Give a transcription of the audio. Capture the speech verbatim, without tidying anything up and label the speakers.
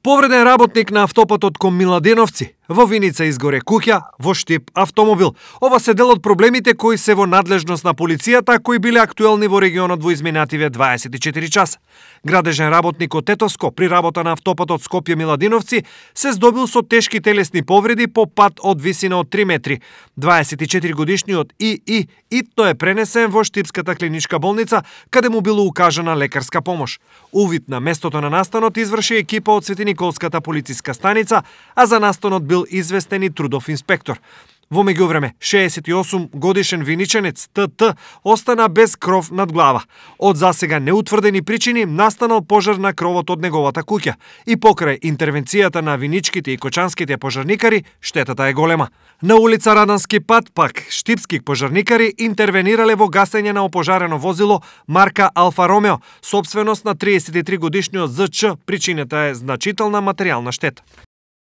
Speaker 1: Повреден работник на автопатот кон Миладиновци. Во Виница изгоре куќа, во Штип автомобил. Ова се дел од проблемите кои се во надлежност на полицијата, кои биле актуелни во регионот во изминативе дваесет и четири часа. Градежен работник од Тетовско при работа на автопатот Скопје Миладиновци се здобил со тешки телесни повреди по пат од висина од три метри. дваесет и четири годишниот И И итно е пренесен во Штипската клиничка болница, каде му било укажана лекарска помош. Увид на местото на настанот изврши екипа од Светиниколската полициска станица, а за настанот бил известен и трудов инспектор. Во меѓувреме, шеесет и осум годишен виниченец Т Т остана без кров над глава. Од засега неутврдени причини настанал пожар на кровот од неговата куќа и покрај интервенцијата на виничките и кочанските пожарникари, штетата е голема. На улица Радански пат пак штипски пожарникари интервенирале во гасење на опожарено возило марка Алфа Ромео, сопственост на триесет и три годишниот З Ч. Причината е значителна материјална штета.